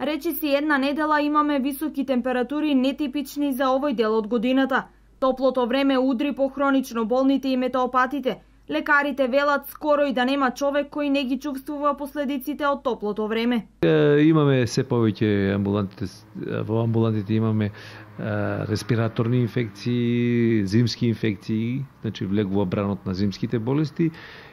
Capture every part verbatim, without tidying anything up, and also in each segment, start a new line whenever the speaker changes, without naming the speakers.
Речиси една недела имаме високи температури нетипични за овој дел од годината. Топлото време удри по хронично болните и метеопатите. Лекарите велат скоро и да нема човек кој не ги чувствува последиците од топлото време.
Имаме се повеќе амбулантите, во амбулантите имаме респираторни инфекции, зимски инфекции, значи влегува бранот на зимските болести.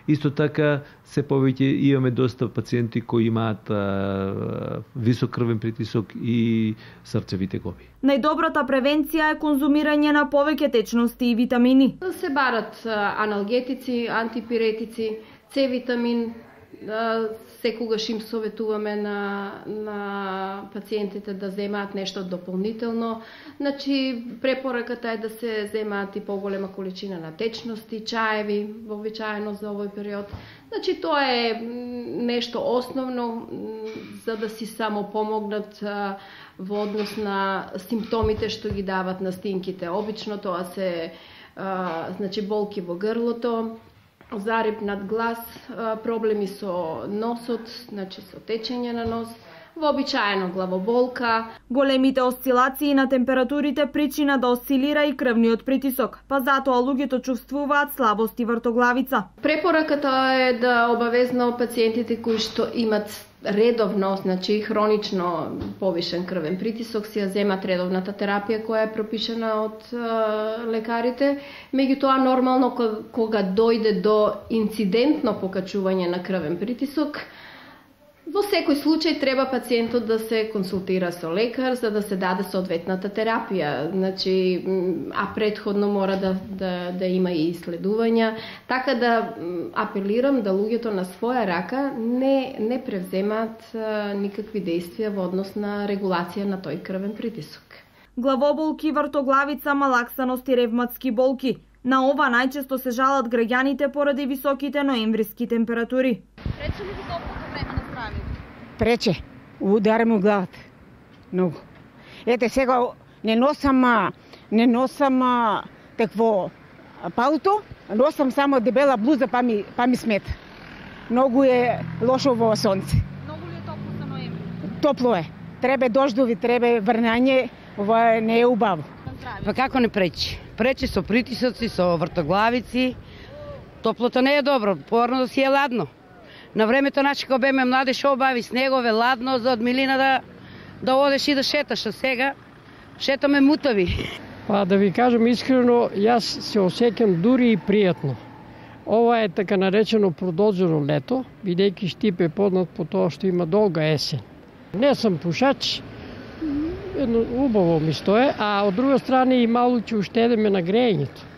Исто така се повеќе имаме доста пациенти кои имаат а, висок крвен притисок и срцеви тегови.
Најдобрата превенција е конзумирање на повеќе течности и витамини.
Да се барат аналгетици, антипиретици, С витамин, секогаш им советуваме на, на пациентите да земаат нешто дополнително. Значи, препораката е да се земаат и поголема количина на течности, чаеви, вообичаено за овој период. Значи, тоа е нешто основно за да си само помогнат во однос на симптомите што ги дават настинките. Обично тоа се а, значи, болки во грлото, зарип над глас, проблеми со носот, значи со течење на нос, вообичаено главоболка.
Големите осцилации на температурите причина да осцилира и крвниот притисок, па затоа луѓето чувствуваат слабост и вртоглавица.
Препораката е да обавезно пациентите кои што имат редовно, значи хронично повишен крвен притисок, си ја земат редовната терапија која е пропишана од е, лекарите. Меѓутоа, нормално кога дојде до инцидентно покачување на крвен притисок, во секој случај треба пациентот да се консултира со лекар за да се даде соодветната терапија. Значи, а предходно мора да, да, да има и исследувања. Така да апелирам да луѓето на своја рака не, не превземаат а, никакви действија во однос на регулација на тој крвен притисок.
Главоболки, вртоглавица, малаксаност и ревматски болки. На ова најчесто се жалат граѓаните поради високите ноемвриски температури.
Пречи ли ви топлото време на здравјето?
Прече, удари му главата. Многу. Ете сега не носам не носам такво палто, носам само дебела блуза па ми па ми смета. Многу е лошо во сонце.
Многу ли е топло за ноември?
Топло е. Треба дождови, треба врнање, ова не е убаво.
Па како не пречи? Пречи со притисоци, со вртоглавици. Топлото не е добро, порно да си е ладно. На времето начи кога беме млади шо обави снегове, ладно за од милина да да одеш и да шеташ, а сега шетаме мутави.
Па да ви кажам искрено, јас се осеќам дури и пријатно. Ова е така наречено продолжено лето, бидејќи Штип е познат по тоа што има долга есен. Не сум пушач, едно убаво ми стое, а од друга страна и малку ќе уштедеме на грејењето.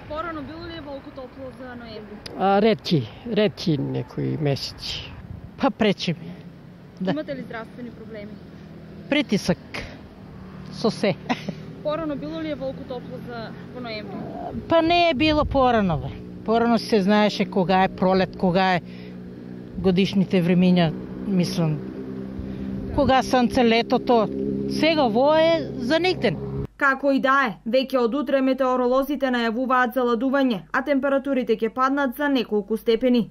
Порано било ли е волку топло за ноември?
А, ретки, ретки некои месеци.
Па пречи ми. Да.
Имате ли здравствени проблеми?
Притисак. Со се.
Порано било ли е волку топло за во ноември?
Па не е било порано, бе. Порано се знаеше кога е пролет, кога е годишните времиња, мислам. Кога сонце летото, сега во е за нигден.
Како и да е, веќе од утре метеоролозите најавуваат заладување, а температурите ќе паднат за неколку степени.